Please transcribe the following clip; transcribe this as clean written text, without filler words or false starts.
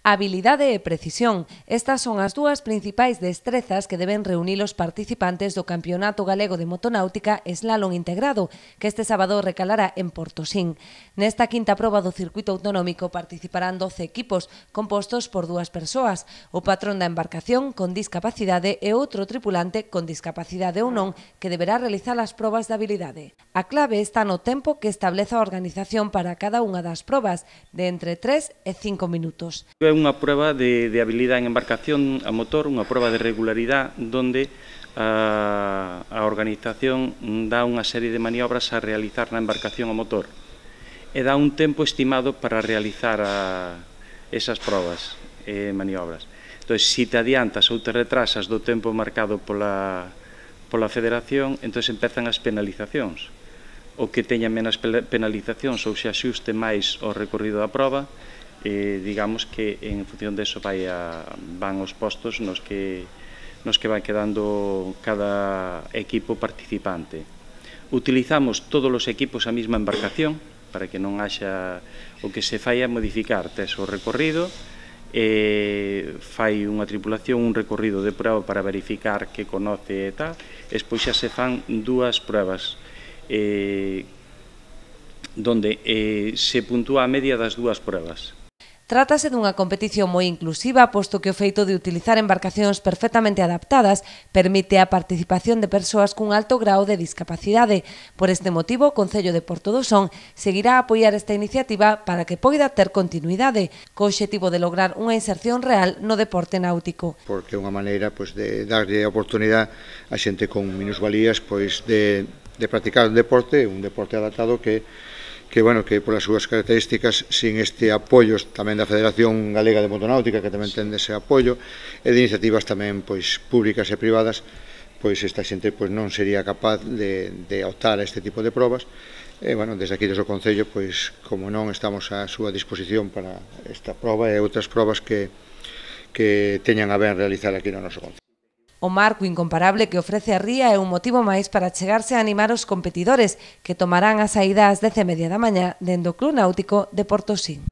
Habilidade e precisión. Estas son as dúas principais destrezas que deben reunir os participantes do Campeonato Galego de Motonáutica Slalom Integrado, que este sábado recalará en Portosín. Nesta quinta proba do circuito autonómico participarán 12 equipos, compostos por dúas persoas, o patrón da embarcación con discapacidade e outro tripulante con discapacidade ou non, que deberá realizar as probas de habilidade. A clave está no tempo que estableza a organización para cada unha das probas, de entre 3 e 5 minutos. É unha proba de habilidade en embarcación a motor, unha proba de regularidade onde a organización dá unha serie de maniobras a realizar na embarcación a motor e dá un tempo estimado para realizar esas probas e maniobras. Entón, se te adiantas ou te retrasas do tempo marcado pola federación, entón empezan as penalizacións. O que teña menos penalizacións ou se axuste máis ao recorrido da proba, digamos que en función deso van os postos nos que vai quedando cada equipo participante. Utilizamos todos os equipos a mesma embarcación para que non haxa o que se fai a modificar. Tes o recorrido, fai unha tripulación un recorrido de prova para verificar que conoce e tal, e despois xa se fan dúas pruebas donde se puntúa a media das dúas pruebas. Trátase dunha competición moi inclusiva, posto que o feito de utilizar embarcacións perfectamente adaptadas permite a participación de persoas cun alto grao de discapacidade. Por este motivo, o Concello de Portodosón seguirá a apoiar esta iniciativa para que poida ter continuidade, co obxectivo de lograr unha inserción real no deporte náutico. Porque é unha maneira de darlle a oportunidade a xente con minusvalías de practicar un deporte adaptado que polas súas características, sin este apoio tamén da Federación Galega de Motonáutica, que tamén ten ese apoio, e de iniciativas tamén públicas e privadas, esta xente non sería capaz de optar a este tipo de probas. E, desde aquí, desde o Concello, como non, estamos á súa disposición para esta proba e outras probas que teñan a ben realizar aquí no noso Concello. O marco incomparable que ofrece a ría é un motivo máis para chegarse a animar os competidores, que tomarán a saída ás 10:30 da mañá dende o Club Náutico de Portosín.